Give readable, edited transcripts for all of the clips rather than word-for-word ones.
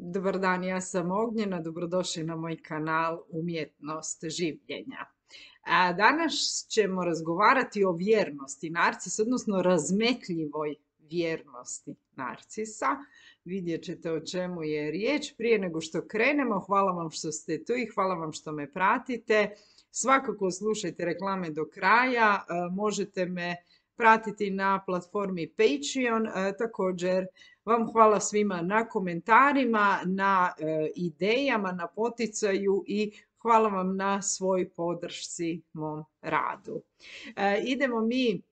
Dobar dan, ja sam Ognjena, dobrodošli na moj kanal Umjetnost življenja. Danas ćemo razgovarati o vjernosti narcisa, odnosno razmetljivoj vjernosti narcisa. Vidjet ćete o čemu je riječ. Prije nego što krenemo, hvala vam što ste tu i hvala vam što me pratite. Svakako slušajte reklame do kraja, možete me pratiti na platformi Patreon. Također vam hvala svima na komentarima, na idejama, na poticaju i hvala vam na svoj podršci mom radu. Idemo mi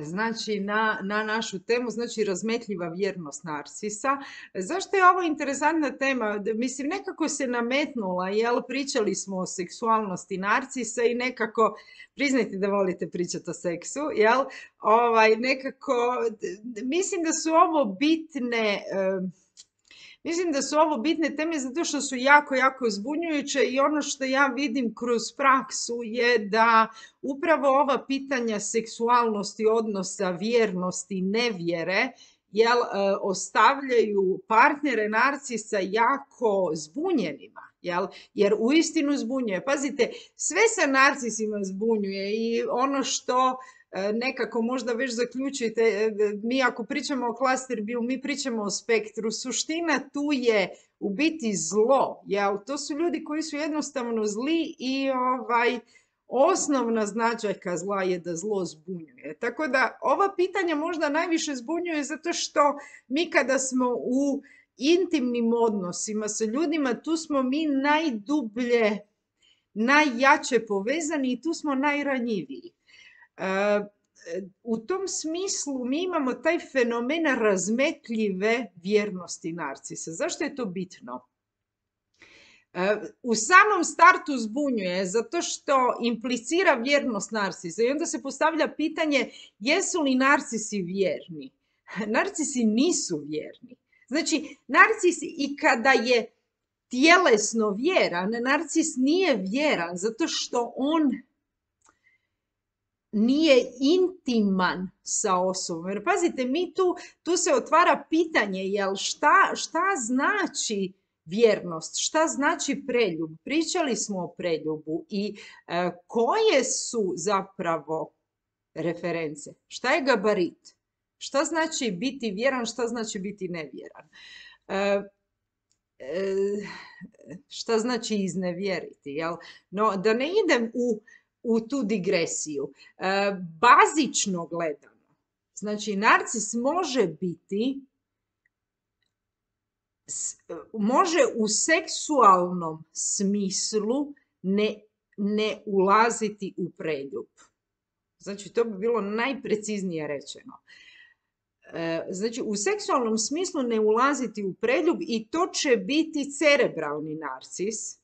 znači na našu temu, znači razmetljiva vjernost narcisa. Zašto je ovo interesantna tema? Mislim, nekako se nametnula, jel? Pričali smo o seksualnosti narcisa i nekako, priznajte da volite pričati o seksu, jel? Nekako, mislim da su ovo bitne teme zato što su jako, jako zbunjujuće i ono što ja vidim kroz praksu je da upravo ova pitanja seksualnosti, odnosa, vjernosti, nevjere, ostavljaju partnere narcisa jako zbunjenima, jer uistinu zbunjuje. Pazite, sve sa narcisima zbunjuje i ono što nekako možda već zaključujete, mi ako pričamo o cluster bio, mi pričamo o spektru, suština tu je u biti zlo, to su ljudi koji su jednostavno zli i osnovna značajka zla je da zlo zbunjuje. Tako da ova pitanja možda najviše zbunjuje zato što mi kada smo u intimnim odnosima sa ljudima, tu smo mi najdublje, najjače povezani i tu smo najranjiviji. U tom smislu mi imamo taj fenomen razmetljive vjernosti narcisa. Zašto je to bitno? U samom startu zbunjuje zato što implicira vjernost narcisa i onda se postavlja pitanje jesu li narcisi vjerni? Narcisi nisu vjerni. Znači, narcis i kada je tjelesno vjeran, narcis nije vjeran zato što on nije intiman sa osobom. Jer pazite, tu se otvara pitanje, šta znači vjernost, šta znači preljub? Pričali smo o preljubu i koje su zapravo reference? Šta je gabarit? Šta znači biti vjeran, šta znači biti nevjeran? Šta znači iznevjeriti? No, da ne idem u tu digresiju. Bazično gledano, znači narcis može u seksualnom smislu ne ulaziti u preljub. Znači, to bi bilo najpreciznije rečeno. Znači, u seksualnom smislu ne ulaziti u preljub i to će biti cerebralni narcis.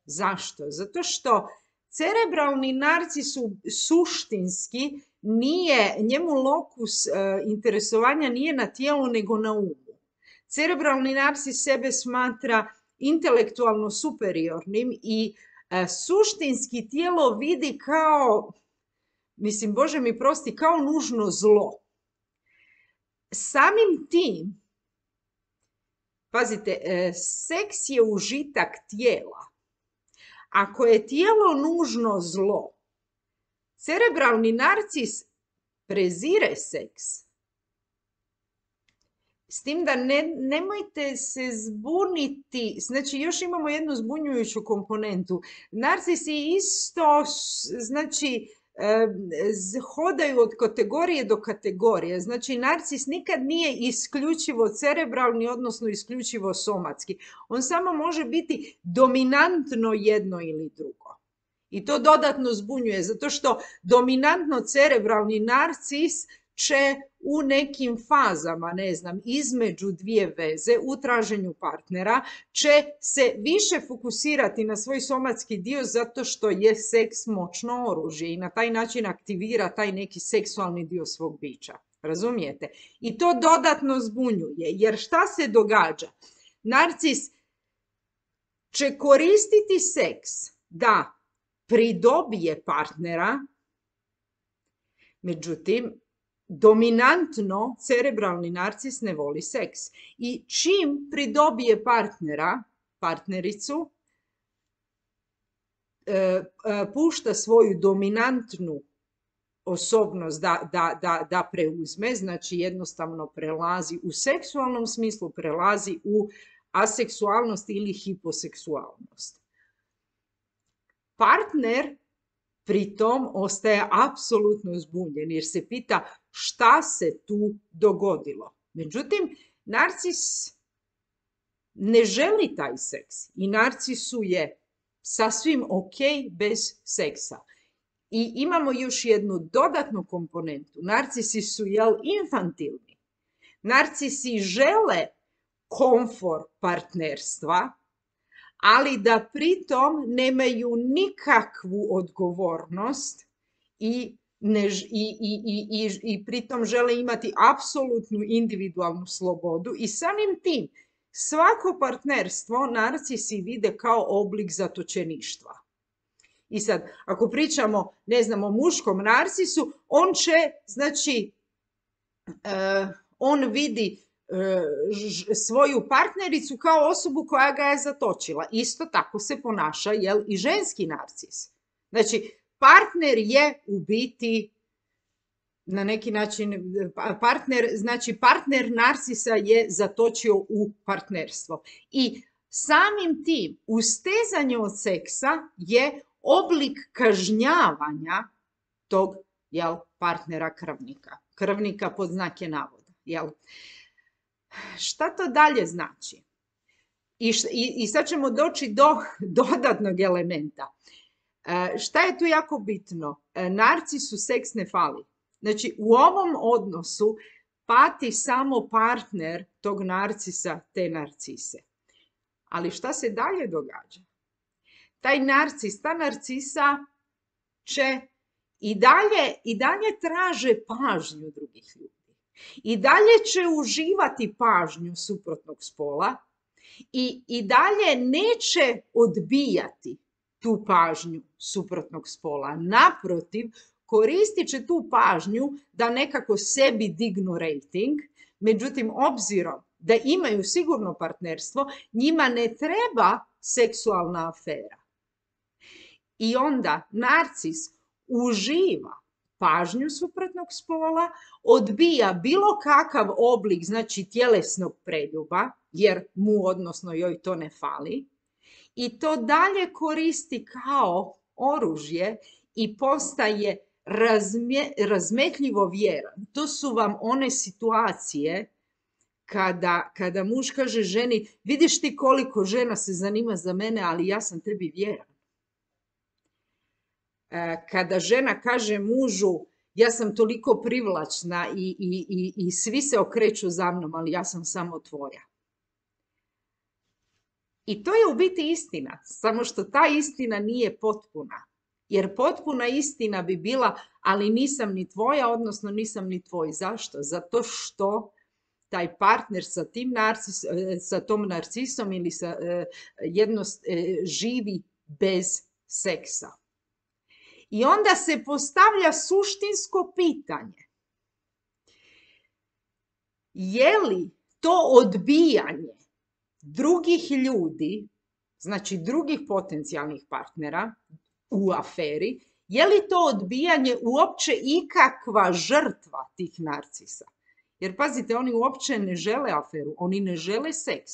Zašto? Zato što cerebralni narcis suštinski njemu lokus interesovanja nije na tijelu nego na umu. Cerebralni narcis sebe smatra intelektualno superiornim i suštinski tijelo vidi kao, mislim, Bože mi prosti, kao nužno zlo. Samim tim, pazite, seks je užitak tijela. Ako je tijelo nužno zlo, cerebralni narcis prezire seks. S tim da nemojte se zbuniti, znači još imamo jednu zbunjujuću komponentu. Narcisi isto, znači, hodaju od kategorije do kategorije. Znači, narcis nikad nije isključivo cerebralni, odnosno isključivo somatski. On samo može biti dominantno jedno ili drugo. I to dodatno zbunjuje, zato što dominantno cerebralni narcis će u nekim fazama, ne znam, između dvije veze u traženju partnera, će se više fokusirati na svoj somatski dio zato što je seks moćno oružje i na taj način aktivira taj neki seksualni dio svog bića. Razumijete? I to dodatno zbunjuje, jer šta se događa? Narcis će koristiti seks da pridobije partnera, međutim, dominantno cerebralni narcis ne voli seks. I čim pridobije partnera, partnericu, pušta svoju dominantnu osobnost da preuzme, znači jednostavno prelazi u seksualnom smislu, prelazi u aseksualnost ili hiposeksualnost. Partner pritom ostaje apsolutno zbunjen jer se pita šta se tu dogodilo. Međutim, narcis ne želi taj seks i narcisu je sasvim ok bez seksa. I imamo još jednu dodatnu komponentu. Narcisi su infantilni. Narcisi žele komfor partnerstva, ali da pritom nemaju nikakvu odgovornost i pritom žele imati apsolutnu individualnu slobodu i samim tim svako partnerstvo narcisi vide kao oblik zatočeništva. I sad, ako pričamo, ne znam, o muškom narcisu, on će, znači, on vidi svoju partnericu kao osobu koja ga je zatočila. Isto tako se ponaša, i ženski narcis. Znači, partner je u biti, na neki način, partner narcisa je zatočio u partnerstvo. I samim tim, ustezanje od seksa je oblik kažnjavanja tog, partnera krvnika. Krvnika pod znake navoda, Šta to dalje znači? I sad ćemo doći do dodatnog elementa. Šta je tu jako bitno? Narcisu seks ne fali. Znači, u ovom odnosu pati samo partner tog narcisa, te narcise. Ali šta se dalje događa? Taj narcis, ta narcisa će i dalje traže pažnju drugih ljudi. I dalje će uživati pažnju suprotnog spola i dalje neće odbijati tu pažnju suprotnog spola. Naprotiv, koristit će tu pažnju da nekako sebi dignu rating, međutim, obzirom da imaju sigurno partnerstvo, njima ne treba seksualna afera. I onda narcis uživa pažnju suprotnog spola, odbija bilo kakav oblik, znači tjelesnog preljuba, jer mu, odnosno joj, to ne fali, i to dalje koristi kao oružje i postaje razmetljivo vjeran. To su vam one situacije kada muž kaže ženi, vidiš ti koliko žena se zanima za mene, ali ja sam tebi vjeran. Kada žena kaže mužu, ja sam toliko privlačna i svi se okreću za mnom, ali ja sam samo tvoja. I to je u biti istina, samo što ta istina nije potpuna. Jer potpuna istina bi bila, ali nisam ni tvoja, odnosno nisam ni tvoj. Zašto? Zato što taj partner sa tom narcisom ili živi bez seksa. I onda se postavlja suštinsko pitanje. Je li to odbijanje drugih ljudi, znači drugih potencijalnih partnera u aferi, je li to odbijanje uopće ikakva žrtva tih narcisa? Jer pazite, oni uopće ne žele aferu, oni ne žele seks.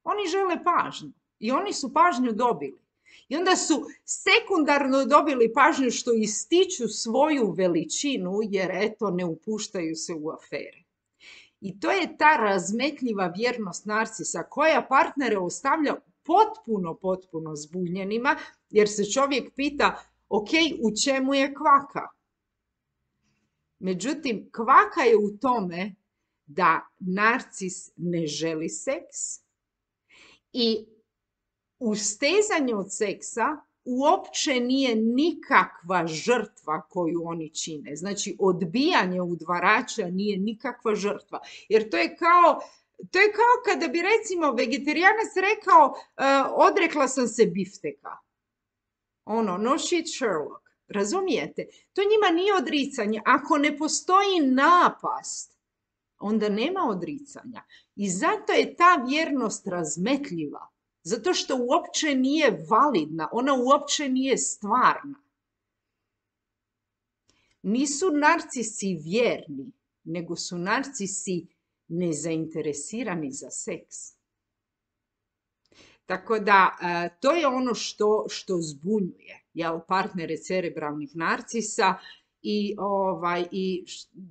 Oni žele pažnju i oni su pažnju dobili. I onda su sekundarno dobili pažnju što ističu svoju veličinu jer eto ne upuštaju se u afere. I to je ta razmetljiva vjernost narcisa koja partnere ostavlja potpuno zbunjenima jer se čovjek pita ok, u čemu je kvaka? Međutim, kvaka je u tome da narcis ne želi seks i ustezanje od seksa uopće nije nikakva žrtva koju oni čine. Znači, odbijanje udvarača nije nikakva žrtva. Jer to je kao kada bi, recimo, vegetarijanac rekao odrekla sam se bifteka. No shit Sherlock. Razumijete? To njima nije odricanje. Ako ne postoji napast, onda nema odricanja. I zato je ta vjernost razmetljiva. Zato što uopće nije validna, ona uopće nije stvarna. Nisu narcisi vjerni, nego su narcisi nezainteresirani za seks. Tako da to je ono što zbunjuje, jel, partnere cerebralnih narcisa i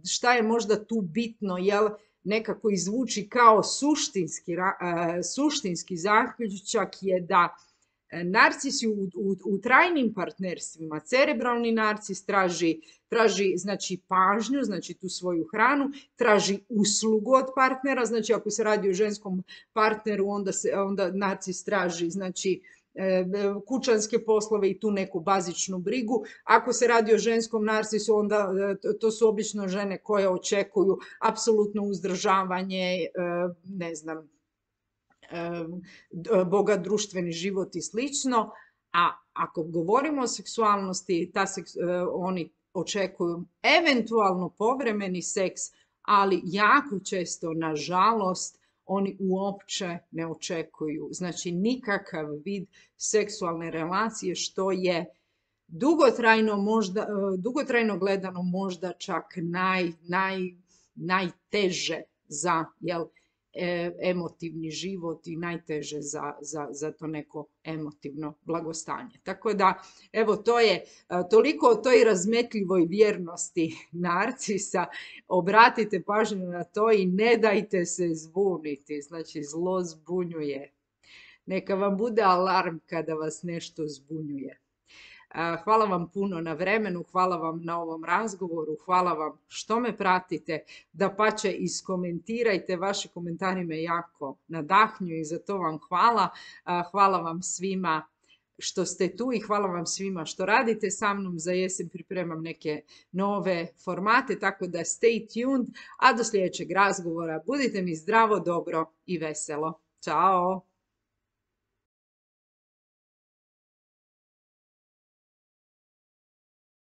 šta je možda tu bitno, jel, nekako izvuči kao suštinski zaključak je da narcisi u trajnim partnerstvima, cerebralni narcis traži znači pažnju, znači tu svoju hranu, traži uslugu od partnera, znači ako se radi o ženskom partneru, onda narcis traži znači kućanske poslove i tu neku bazičnu brigu. Ako se radi o ženskom narcisu, onda to su obično žene koje očekuju apsolutno uzdržavanje, ne znam, bogat društveni život i slično. A ako govorimo o seksualnosti, oni očekuju eventualno povremeni seks, ali jako često, nažalost, oni uopće ne očekuju, znači nikakav vid seksualne relacije, što je dugotrajno gledano možda čak najteže za, jel, emotivni život i najteže za to neko emotivno blagostanje. Tako da, evo, to je toliko o toj razmetljivoj vjernosti narcisa. Obratite pažnju na to i ne dajte se zbuniti. Znači, zlo zbunjuje. Neka vam bude alarm kada vas nešto zbunjuje. Hvala vam puno na vremenu, hvala vam na ovom razgovoru, hvala vam što me pratite, dapače iskomentirajte, vaši komentari me jako nadahnjuju i za to vam hvala. Hvala vam svima što ste tu i hvala vam svima što radite sa mnom. Za jesen pripremam neke nove formate, tako da stay tuned, a do sljedećeg razgovora budite mi zdravo, dobro i veselo. Ćao!